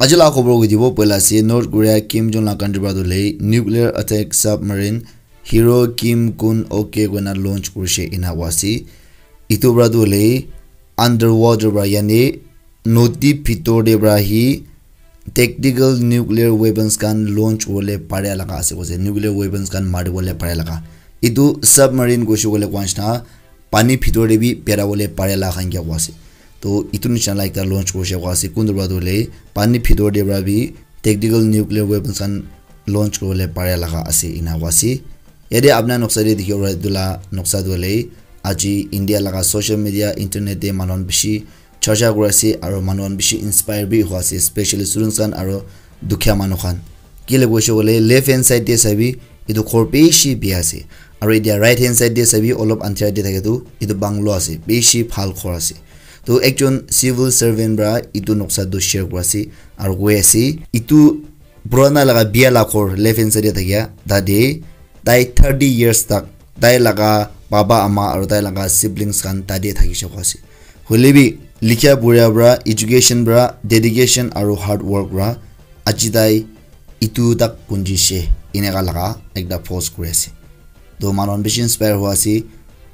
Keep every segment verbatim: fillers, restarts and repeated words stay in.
Aji la khobor koi dibo poila ase North Korea Kim Jong la country para tu le nuclear attack submarine Hero Kim Kun Ok koina launch kurishe ena koa ase. Itu para tu le underwater para yani nodi bhitor te para hi tactical nuclear weapons khan launch kuribole pare laga ase koise, nuclear weapons khan maribole pare laga. Itu submarine koise koile koa nishina pani bhitor te bi berabole pare laga khan ke koa ase. To itu nishina la ekta launch koise koa ase, kuntu para tu hoile pani bhitor te para bi tactical nuclear weapons khan launch kuribole pare laga ase ena koa ase. Yate apna noksa te dikhibo para etu la noksa tu hoile aji India laga social media, internet te manu khan bishi charcha kuri ase aro manu khan bishi inspire bi hoi ase, especially students khan aro dukhia manu khan. Kile koise koile left hand side te sabi etu ghor bishi bia ase aro etia right hand side te sabi olop andhera te thake tu etu bungalow ase, bishi bhal ghor ase. To ekjon civil servant para etu noksa tu share kuri ase aro koi ase etu purana laga bia la ghor left hand side te thakia tate tai thirty years tak tai laga baba ama aro tai laga siblings khan tate thakishe koa ase. Hoile bi likhia pura para, education para, dedication aro hard work para aji tai itu tak punjishe eneka laga ekta post kuri ase. To manu khan bishi inspire hoi ase,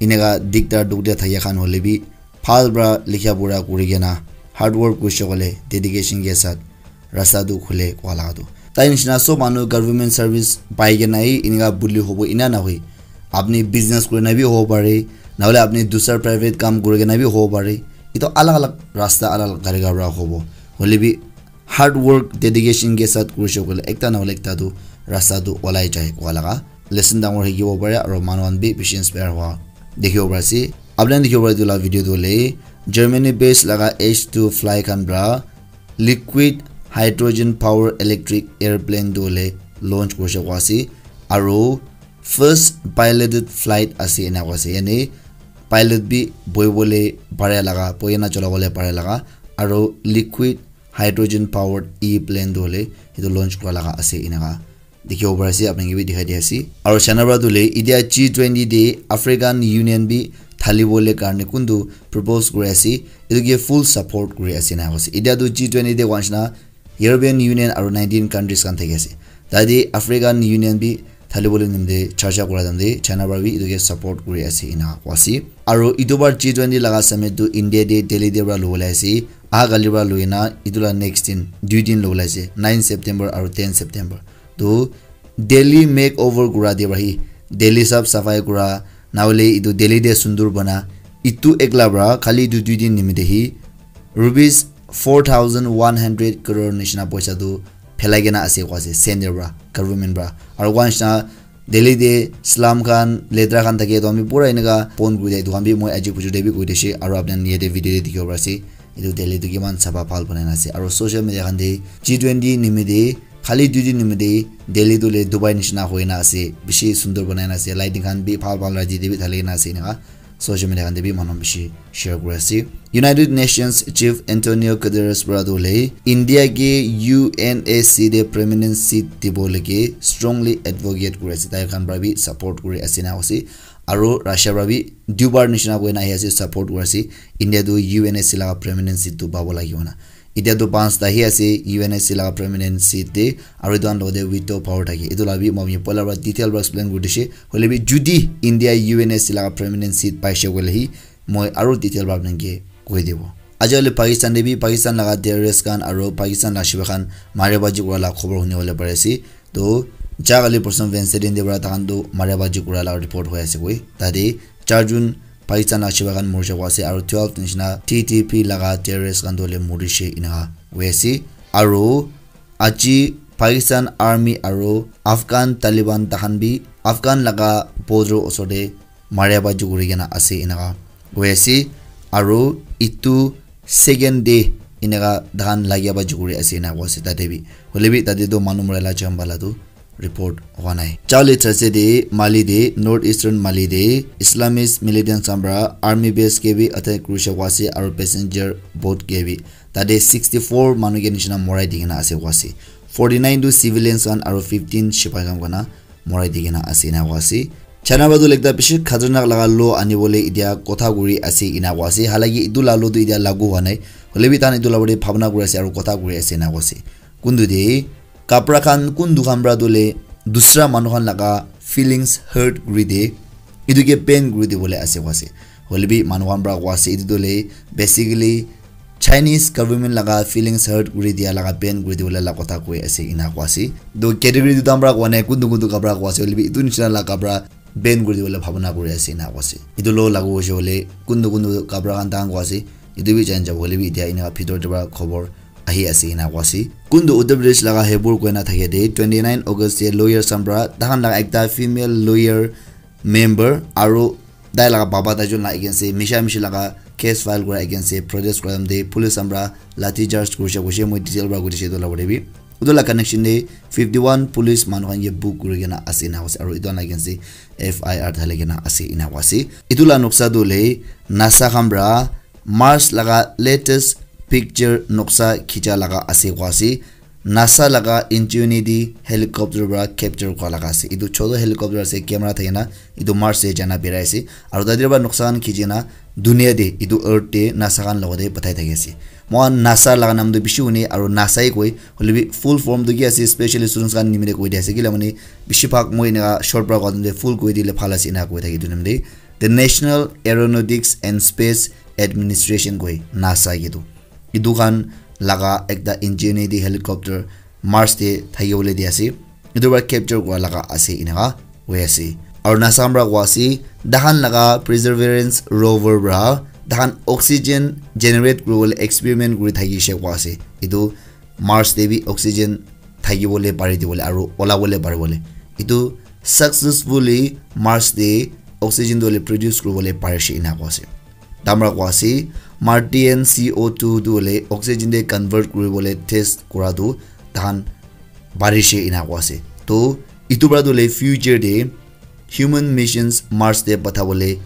eneka diktar dukh te thakia khan hoile bi bhal para likhia pura kuri kena hard work kurishe koile dedication ke sath rasta tu khule koa laga tu. Tai nishina sob manu government service pai kena hi eneka buli hobo ena nahoi. Apni business kuri na bi hobo pare, nahole apni dusra private kam kuri kena bi hobo pare. Itu alag alag rasta, alag alag tariqa para hobo. Hoile bi hard work, dedication ke sath kurishe koile ekta nahole ekta tu rasta tu olai jai koa laga lesson dangor hikibo pare aro manu khan bi bishi inspire hua dikhibo pare ase. Apni khan dikhibo pare etu la video tu hoile Germany based laga H two Fly khan para liquid hydrogen power electric airplane tu hoile launch kurishe koa ase aro first piloted flight ase ena koa ase, yani pilot bi bohibole pare laga, bohi kena cholabole pare laga aro liquid hydrogen powered e plane tu hoile etu launch kura laga ase eneka dikhibo pari ase, apni khan ke bi dikhai di ase. Aro China para tu hoile etia G twenty te African Union bi thalibole karne kuntu propose kuri ase, etu ke full support kuri ase ena koa ase. Etia tu G twenty te koa nishina European Union aro nineteen countries khan thaki ase. Tate African Union bi thalibole nimite charcha kura time te China para bi etu ke support kuri ase ena koa ase. Aro etu bar G twenty laga summit tu India te Delhi te para lobole ase. Aha kali para loi kena etu la next din, dui din lobole ase, nine September aro ten September. To Delhi makeover kura te para hi, Delhi saf safai kura, nahole etu Delhi te sundur bana, etu ekla para khali etu dui din nimite hi rupees four thousand one hundred crore nishina poisa tu phelai kena ase koa ase center para, government para. Aro koa nishina Delhi te slum khan, letra khan thake, etu khan bi pura eneka bon kuri dia, etu khan bi moi aji bujur te bi koi dise, aro apni khan yate video te dikhibo pari ase, etu Delhi tu kiman sapha bhal banai na ase. Aro social media khan te G twenty nimite, khali dui din nimite, Delhi tu hoile Dubai nishina hoi na ase, bishi sundur banai na ase, lighting khan bi bhal bhal raji te bi thali kena ase eneka. Social media khan te bi manu bishi share kuri ase. United Nations Chief Antonio Guterres para tu hoile India ke U N S C te permanent seat dibo lage strongly advocate kuri ase, tai khan para bi support kuri ase na ase. Aro Russia para bi dubar nishina koi na ahi ase, support kuri ase India tu U N S C laga permanent seat tu pabo lagi hona. Etia tu panch ta hi ase U N S C laga permanent seat te, aro etu khan logote veto power thake. Etu la bi moi poila para detail para explain kuri dise. Hoile bi judi India U N S C laga permanent seat paise koile hi, moi aro detail para apni khan ke koi dibo. Aji hoile Pakistan te bi Pakistan laga terrorist khan aro Pakistan laga shipa khan mare baji kura la khobor huni bole pari ase. To ja kali person Wednesday din te para takhan tu mare baji kura la report hoi ase koi. Tate char jun Pakistan laga shipa khan mori jabo ase aro twelve nishina T T P laga terrorist khan tu hoile morishe eneka hoi ase. Aro aji Pakistan army aro Afghan Taliban takhan bi Afghan laga border osor te maria baji kuri kena ase eneka hoi ase. Aro etu second day eneka takhan lagia baji kuri ase eneka koi ase tate bi. Hoile bi tate tu manu mora la jam bala tu report hua nai. Charli Thursday te Mali te, North Eastern Mali te Islamist militants khan para army base ke bi attack kurishe koi ase aro passenger boat ke bi tate sixty four manu ke nishina morai di kena ase koi ase. Forty nine tu civilians khan aro fifteen shipai khan kona morai di kena ase ena koi ase. China para tu ekta bishi khatarnak laga law ani bole etia kotha kuri ase ena koi ase. Halaki etu la law tu etia lagu hua nai. Hoile bi tahan etu la bole bhabna kuri ase aro kotha kuri ase ena koi ase. Kuntu de kapra khan kuntu khan pra tu le dusra manu khan laga feelings hurt kuri de, etu ke pain kuri de bole ase koa ase. Hoile bi manu khan pra koa ase etu tu le basically Chinese government laga feelings hurt kuri dia laga pain kuri de bole la kotha koi ase ena koa ase. To category tu tam pra koa nai kuntu kuntu kapra koa ase hoile bi etu nishina la kapra ban kuri dibole bhabana kuri ase ena koa ase. Etu lo lagu hoise hoile kuntu kuntu kapra khan tahan koa ase. Etu bi jani jabo hoile bi etia ena bhitor te pra khobor ahi ase ena koa ase. Kuntu Uttar Pradesh laga Haipur koina thake de twenty nine August te lawyer khan pra tahan laga ekta female lawyer member aro tai laga baba tai jun la against te misha mishi laga case file kura against te protest kura time te police khan pra lathi charge kurishe koishe moi detail pra koi dishe etu la bole bi. Etu la connection te fifty one police manu khan ke book kuri kena ase ena koa ase aro etu khan la against te F I R thali kena ase ena koa ase. Etu la noksa tu hoile NASA khan pra Mars laga latest picture noksa khicha laga ase koa ase. NASA laga Ingenuity helicopter pra capture kura laga ase. Etu chotu helicopter ase camera thake na etu Mars te jana birai ase. Aro tate pra noksa khan khichi na dunia te etu earth te NASA khan logote pathai thaki ase. Moikhan NASA laga naam tu bishi hune aro NASA he koi hoile bi full form tu ki ase specially students khan nimite koi dia ase kila mane bishi bhag moi eneka short pra koi dile full koi dile bhal ase ena koi thaki etu naam te the National Aeronautics and Space Administration koi NASA ke tu etu khan laga ekta Ingenuity helicopter Mars te thaki bole di ase. Etu para capture kura laga ase eneka hoi ase. Aru NASA para koa ase, tahan laga Perseverance rover para tahan oxygen generate kuribole experiment kuri thakishe koa ase. Etu Mars te bi oxygen thakibole pari dibole aru olabole paribole. Etu successfully Mars te oxygen tu hoile produce kuribole parishe ena koa ase. Tamra koa ase, Martian C O two tu hoile oxygen te convert kuribole test kura tu tahan parishe ena koa ase. To, etu para tu hoile future te human missions Mars te pathabole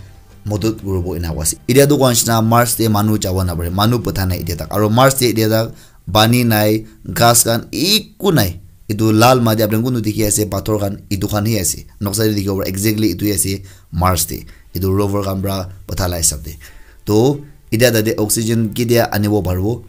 modot kuribo ena koa ase. Etia tu koa nishina Mars te manu jabo napare, manu patha nai etia tak. Aru Mars te etia tak pani nai, ghas khan eku nai. Etu lal mati apni khan kuntu dikhi ase, pathor khan, etu khan hi ase. Noksa te dikhibo para exactly etu hi ase Mars te. Etu rover khan para patha la hisab te. To, etia tate oxygen ketia anibo paribo?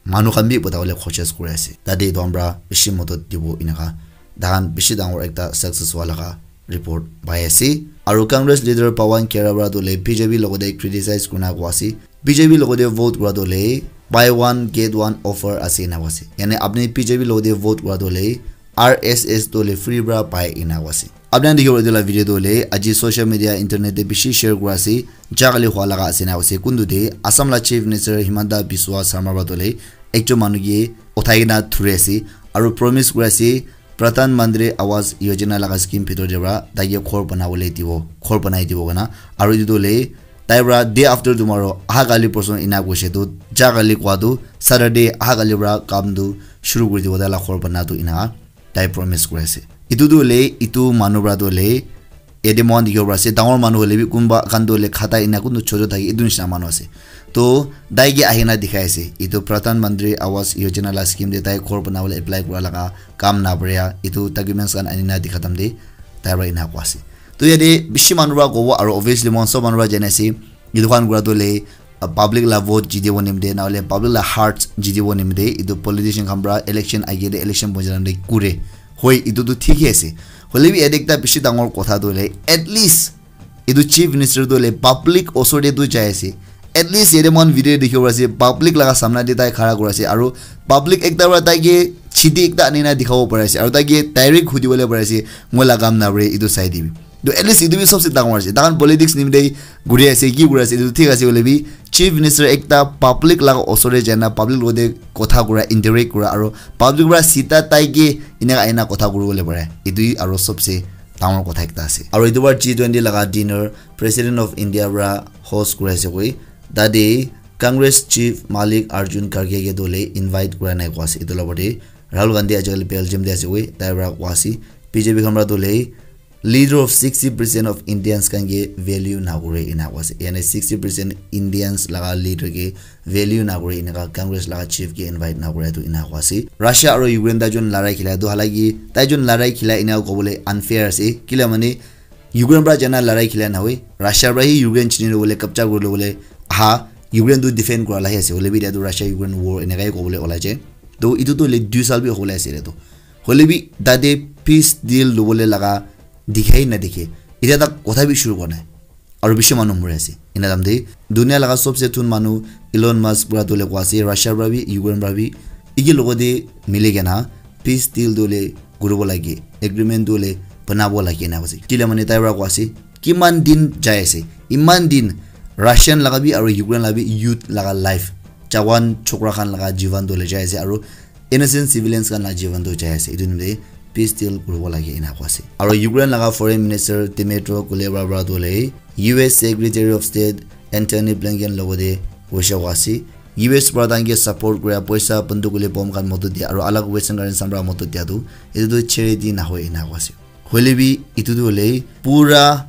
Manu khan bi pathabole koshish kuri ase. Tate etu khan para bishi modot dibo eneka. Tahan bishi dangor ekta success hua laga report pai ase. Aru Congress leader Pawan Khera para tu hoile B J P logote criticize kurina koa ase. B J P logote vote kura tu hoile buy one get one offer ase ena koa ase. Yani apni B J P logote vote kura tu hoile R S S tu hoile free para pai ena koa ase. Apni khan dikhibo etu la video tu hoile aji social media internet te bishi share kura ase. Jagale hua laga ase na ase kuntu te Assam la Chief Minister Himanta Biswa Sarma para tu hoile ekjon manu ke uthai kena thuri ase aru promise kuri ase Pradhan Mantri Awas Yojana laga scheme bhitor te para tai ke ghor banabole dibo, ghor banai dibo koina. Aru etu tu hoile tai para day after tomorrow, aha kali porson ena koise tu, ja kali koa tu, Saturday aha kali para kam tu shuru kuri dibo tai la ghor bana tu ena tai promise kuri ase. Etu tu hoile, etu manu para tu hoile, yate moikhan dikhibo pari ase, dangor manu hoile bi kunba khan tu hoile khata ena kuntu chotu thaki etu nishina manu ase. To, tai ke ahina dikhai ase, etu Pradhan Mantri Awas Yojana la scheme te tai ghor banabole apply kura laga kam naparia, etu documents khan anina dikha time te tai para ena koa ase. To, yate bishi manu para kobo, aru obviously moikhan sob manu para jani ase, etu khan kura tu hoile, uh, public la vote jitibo nimite, na hoile public la hearts jitibo nimite, etu politician khan para election age te election boji time te kure. Hoi, etu tu thik hi ase. Hoile bi yate ekta bishi dangor kotha tu hoile, at least etu Chief Minister tu hoile public osor te tu jai ase. At least yate moikhan video dikhibo pari ase, public laga samna te tai khara kuri ase, aru public ekta para tai ke chiti ekta anina dikhabo pari ase, aru tai ke direct hudibole pari ase, moi la kam nabore etu sai dibi. To at least etu bi sobse dangor ase. Tahan politics nimite guri ase, ki kuri ase, etu thik ase hoile bi Chief Minister ekta public laga osor te jai na public logote kotha kura, interact kura, aru public para sita tai ke eneka aina kotha kuribole pare. Etu hi aru sobse dangor kotha ekta ase. Aru etu para G twenty laga dinner President of India para host kuri ase koi. Tate Congress Chief Mallikarjun Kharge ke tu hoile invite kura nai koa ase. Etu la opor te Rahul Gandhi ajikali Belgium te ase koi. Tai para koa ase, B J P khan para tu hoile leader of sixty percent of Indians khan ke value nakure ena koa ase. Yani sixty percent Indians laga leader ke value nakure eneka Congress laga chief ke invite nakure tu ena koa ase. Russia aru Ukraine tai jun larai khila tu, halaki tai jun larai khila ena kobole unfair ase. Kila mane Ukraine para jana larai khila nahoi. Russia para hi Ukraine chini lobole, kabja kuri lobole aha, Ukraine tu defend kura lahi ase. Hoile bi etia tu Russia Ukraine war eneka hi kobole olai jai. To etu tu hoile dui sal bi hobole ase etu. Hoile bi tate peace deal lobole laga dikhai na dikhe. Itya tak kotha bi shuru kora nai. Aru bishi manu mori ase. Ena dam de dunia laga sobse thun manu Elon Musk para tu le kwa ase, Russia para bi, Ukraine para bi, iki logote mili kena peace deal tu le kuribo lage, agreement tu le banabo lage ena koise. Kile mane tai para kwa ase, kiman din jai ase, iman din Russian laga bi aru Ukraine laga bi youth laga life, jawan chokra khan laga jivan tu le jai ase, aru innocent civilians khan la jivan tu jai ase. Etu nimite peace deal kuribo lage ena koa ase. Aru Ukraine laga foreign minister Dmytro Kuleba para tu le U S Secretary of State Antony Blinken logote hoishe koa ase. U S para tanke support kura poisa, banduk hoile bomb khan modot dia aru alag western countries khan para modot dia tu etu tu charity nahoi ena koa ase. Hoile bi etu tu hoile pura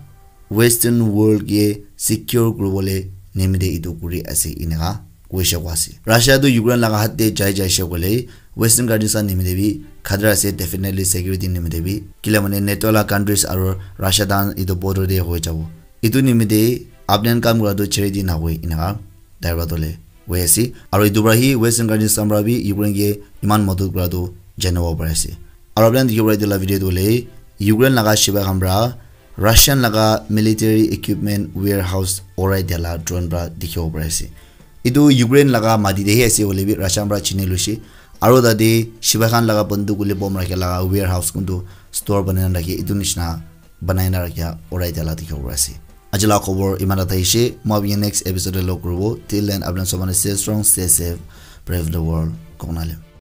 western world ke secure kuribole nimite etu kuri ase eneka koishe koa ase. Russia tu Ukraine laga hat te jai jaishe koile western countries khan nimite bi khatara ase, definitely security nimite bi. Kile mane NATO la countries aru Russia dan etu border te hoi jabo. Etu nimite apni khan kam kura tu charity nahoi eneka tai para tu le hoi ase. Aru etu para hi western countries khan para bi Ukraine ke iman modot kura tu janibo pari ase. Aru apni khan dikhibo pare etu la video tu hoile Ukraine laga sipai khan para Russian laga military equipment warehouse urai dia la drone para dikhibo pari ase. Etu Ukraine laga mati te hi ase hoile bi Russian para chini loise. Aru tate sipai khan laga banduk hoile bomb rakhi laga warehouse kuntu store banai na rakhi etu nishina banai na rakhi urai dia la dikhibo pari ase. Aji la khobor iman ta thaishe. Moi apni next episode te log kuribo. Till then, apni khan sob mane stay strong, stay safe, brave the world. Kongna le.